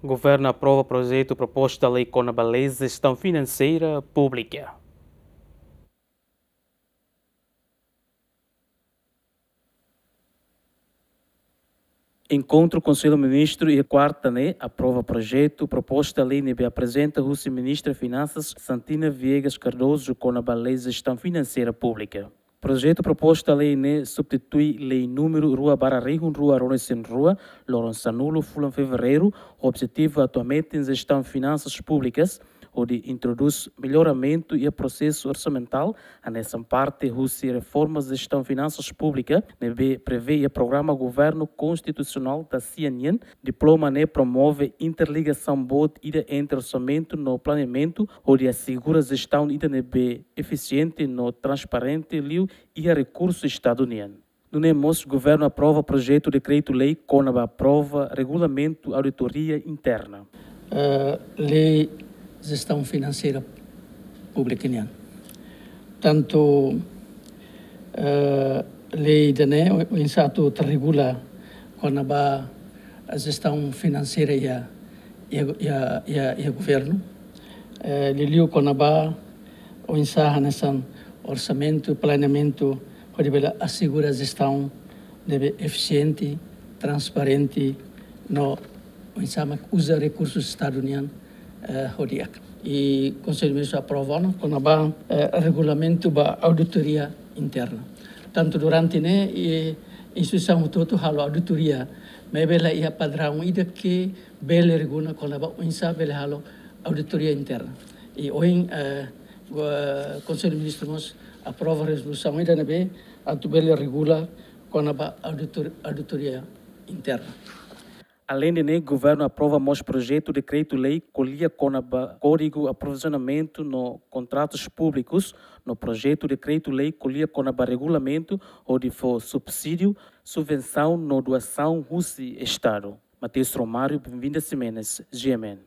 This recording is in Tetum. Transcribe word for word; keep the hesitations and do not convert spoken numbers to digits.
Governu aprova projetu proposta lei kona-ba lei jestaun finanseira públika. Enkontru Konsellu Ministru iha kuarta ne'e aprova projetu proposta lei ne'ebé aprezenta husi Ministra Finansas Santina Viegas Cardoso kona-ba lei jestaun finanseira públika. Projetu proposta lei ne'e substitui lei númeru rua barra rihun rua ruanulu-resin-rua, loron sanulu fulan Fevereiru, ho objetivu atu hametin jestaun finansas públikas, hodi introdús melloramentu iha prosesu orsamentál, hanesan parte husi reforma jestaun finansas públika, ne'ebé prevee iha programa governu konstitusionál da sia nian. Diploma ne'e promove interligasaun boot ida entre orsamentu no planeamentu, hodi asegura jestaun ida ne'ebé efisiente no transparente liu iha rekursu Estadu nian. Nune'e mós governu aprova projetu dekretu-lei kona-ba aprova regulamentu auditoria interna. Eh, lei jestaun finanseira públika nian. Tantu, eh, lei ida-ne'e oinsá atu regula kona-ba jestaun finanseira iha, iha, iha, iha, iha governu. Eh, liuliu kona-ba oinsá hanesan orsamentu, planeamentu, hodi bele asegura jestaun ne'ebé efisiente, transparente, no oinsá mak uza rekursu Estadu nian, eh, ho di'ak. I Konsellu Ministru aprova ona kona-ba, eh, regulamentu ba auditoria interna. Tantu durante ne'e, i instituisaun hotu-hotu halo auditoria, maibé la iha padraun ida ke bele regula kona-ba oinsá bele halo auditoria interna. I ohin, eh, go-, Konsellu Ministru mós aprova rezolusaun ida ne'ebé atu bele regula kona-ba auditor-, auditoria interna. Aleinde ne'e, governu aprova mós projetu dekretu-lei ko'alia kona-ba kódigu aprovizionamentu no kontratus públikus, no projetu dekretu-lei ko'alia kona-ba regulamentu hodi fó subsídiu, subvensaun no doasaun husi Estadu. Mateus Romário, Benvinda Ximenes, G M N.